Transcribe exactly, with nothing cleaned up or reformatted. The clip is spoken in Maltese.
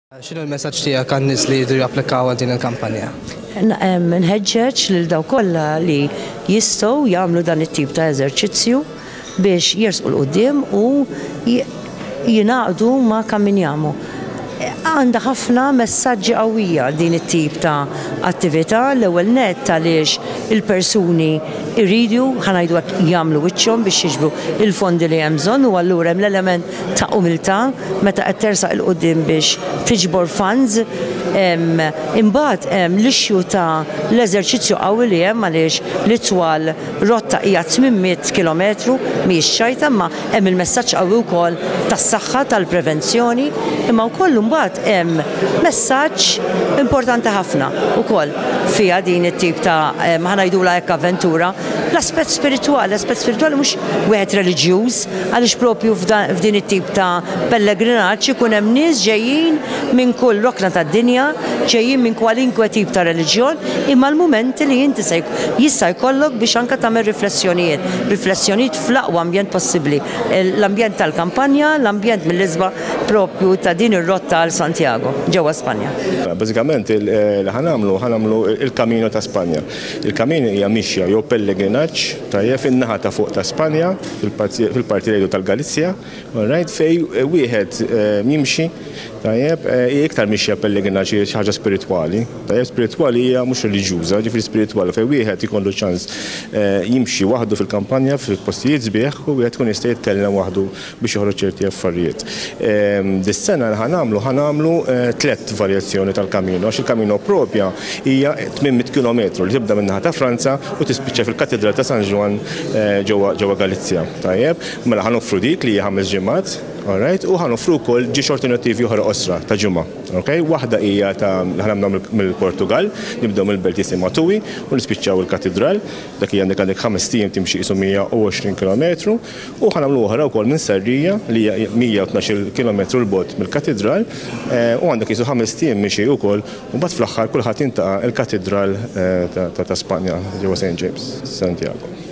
X'inhu l-messaġġ tiegħek għan-nies li jridu japplikaw għal din il-kampanja? Nħeġġeġ lil dawk kollha li jistgħu jagħmlu dan it-tip ta' eżerċizzju biex jersqu 'l quddiem u jingħaqdu ma' Camminiamo. Għandha ħafna messaġġi qawwija din it-tip ta' attività. L-ewwel nett għaliex il-persuni jridu, ħa ngħidu hekk, jagħmlu wiċċhom biex jiġbru il-fondi li hemm bżonn u allura hemm l-element ta' umiltà meta qed tersaq 'il quddiem biex tiġbor funds. Imbagħad hemm l-issue ta' l-eżerċizzju qawwi li hemm, għaliex l-itwal rotta hija tmien mitt kilometru, mhijiex ċajta, imma hemm il-messaġġ qawwi wkoll tas-saħħa, tal-prevenzjoni, imma wkoll imbagħad hemm messaġġ importanti ħafna ukoll fiha din it-tip ta', ħa ngħidulha hekk, avventura, l-aspett spiritwali, l-aspett spiritwali mhux wieħed reliġjuż, għaliex propju f'din it-tip ta' pellegrinaġġ ikun hemm nies ġejjin minn kull rokna tad-dinja, ġejjin minn kwalinkwe tip ta' reliġjon, imma l-mumenti li inti se jista' jkollok biex anke tagħmel riflessjonijiet, riflessjonijiet fl-aqwa ambjent possibbli, l-ambjent tal-kampanja, l-ambjent mill-isbaħ propju ta' din ir-rotta għal Santiago, ġewwa Spanja. Bażikament li ħa nagħmlu ħa nagħmlu il-Camino ta' Spanja. Il-Camino hija mixja jew pellegrinaġġ, tajjeb, fin-naħa ta' fuq ta' Spanja, fil-parti tal-Galizja, right, fej wieħed eh, jimxi, tajjeb, eh, iktar mixja pellegrinaġġ, xi ħaġa spiritwali. Tajjeb, spiritwali hija mhux reliġjuża, ġifieri spiritwali, fejn wieħed ikollu ċans eh, jimxi waħdu fil-kampanja, fil-postijiet sbieħ, u wieħed tkun jista' jitkellem waħdu biex joħroġ ċerti affarijiet. Ehm, dis-sena li ħa nagħmlu ħa nagħmlu tliet varjazzjoni tal-Camino, għax il-Camino propja hija tmien mitt kilometru li tibda min-naħa ta' Franza u tispiċċa fil-Katedral ta' San Juan ġewwa Galizja. Tajjeb, mela ħa noffru dik li hija ħames ġimgħat, alright, u ħa noffru wkoll żewġ alternattivi oħra qosra ta' ġimgħa. Okay? Waħda hija ta' ħa nagħmlu mill-Portugal, nibdew mill-belt jisimha Tui u nispiċċaw il-katedral, dak hija għandek għandek ħamest ijiem timxi qisu mija u għoxrin kilometru, u ħa nagħmlu oħra wkoll minn Sarria li hija mija u tnax-il kilometru 'l bogħod mill-katedral, eh, u għandek qisu ħamest ijiem mixi wkoll, u mbagħad fl-aħħar kulħadd jiltaqa' il-katedral eh, ta' Spanja ġewwa Saint James, Santiago.